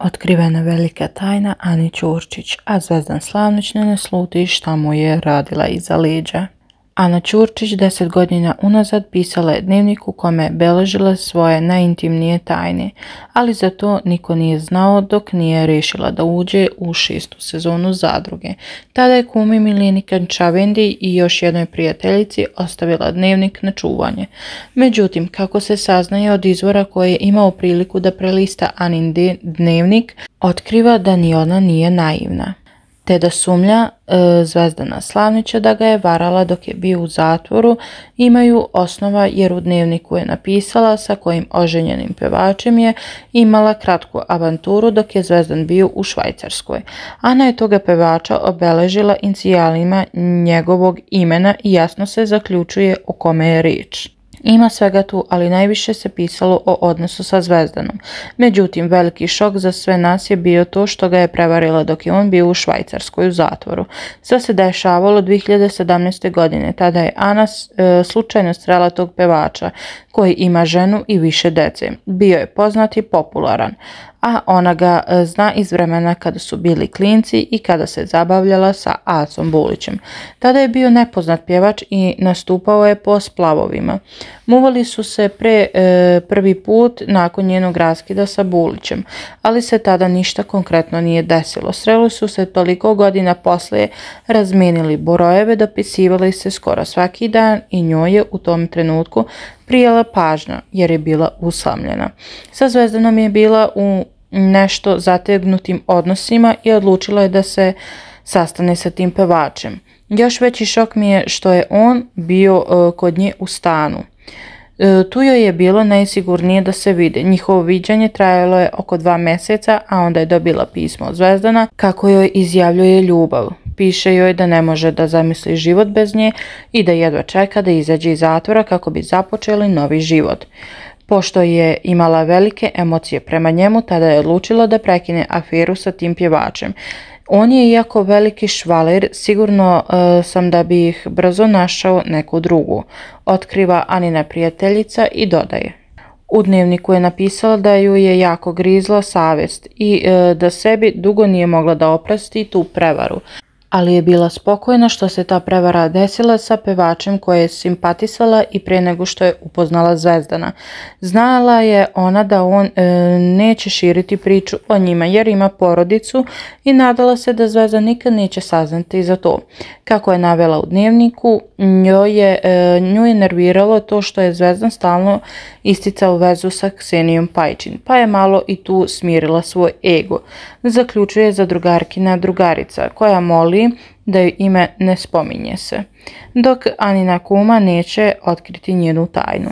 Otkrivena velika tajna Ani Ćurčić, a Zvezdan Slavnić ne nasluti šta mu je radila iza leđa. Ana Ćurčić 10 godina unazad pisala je dnevnik u kome beležila svoje najintimnije tajne, ali za to niko nije znao dok nije rešila da uđe u 6. sezonu Zadruge. Tada je kumi Mileni Kančavendi i još jednoj prijateljici ostavila dnevnik na čuvanje. Međutim, kako se saznaje od izvora koji je imao priliku da prelista Anin dnevnik, otkriva da ni ona nije naivna, te da sumnja Zvezdana Slavnića da ga je varala dok je bio u zatvoru imaju osnova jer u dnevniku je napisala sa kojim oženjenim pevačem je imala kratku avanturu dok je Zvezdan bio u Švajcarskoj. Ana je toga pevača obeležila inicijalima njegovog imena i jasno se zaključuje o kome je riječ. Ima svega tu, ali najviše se pisalo o odnosu sa Zvezdanom. Međutim, veliki šok za sve nas je bio to što ga je prevarila dok je on bio u Švajcarskoj u zatvoru. Sve se dešavalo 2017. godine. Tada je Ana slučajno srela tog pevača koji ima ženu i više dece. Bio je poznat i popularan, a ona ga zna iz vremena kada su bili klinci i kada se zabavljala sa Acom Bulićem. Tada je bio nepoznat pjevač i nastupao je po splavovima. Muvali su se prvi put nakon njenog raskida sa Bulićem, ali se tada ništa konkretno nije desilo. Sreli su se toliko godina poslije, razmijenili brojeve, dopisivali se skoro svaki dan i njoj je u tom trenutku prijela pažnja jer je bila usamljena. Sa Zvezdanom je bila u nešto zategnutim odnosima i odlučila je da se sastane sa tim pevačem. Još veći šok mi je što je on bio kod nje u stanu. Tu joj je bilo najsigurnije da se vide. Njihovo viđanje trajalo je oko 2 mjeseca, a onda je dobila pismo od Zvezdana kako joj izjavljuje ljubav. Piše joj da ne može da zamisli život bez nje i da jedva čeka da izađe iz zatvora kako bi započeli novi život. Pošto je imala velike emocije prema njemu, tada je odlučila da prekine aferu sa tim pjevačem. On je iako veliki švaler, sigurno sam da bi ih brzo našao neku drugu, otkriva Anina prijateljica i dodaje. U dnevniku je napisala da ju je jako grizla savjest i da sebi dugo nije mogla da oprosti tu prevaru, ali je bila spokojna što se ta prevara desila sa pevačem koje je simpatisala i prije nego što je upoznala Zvezdana. Znala je ona da on neće širiti priču o njima jer ima porodicu i nadala se da Zvezdan nikad neće saznati za to. Kako je navela u dnevniku, nju je nerviralo to što je Zvezdan stalno isticao vezu sa Ksenijom Pajčin, pa je malo i tu smirila svoj ego. Zaključuje zadrugarkina drugarica koja moli da joj ime ne spominje se, dok Anina kuma neće otkriti njenu tajnu.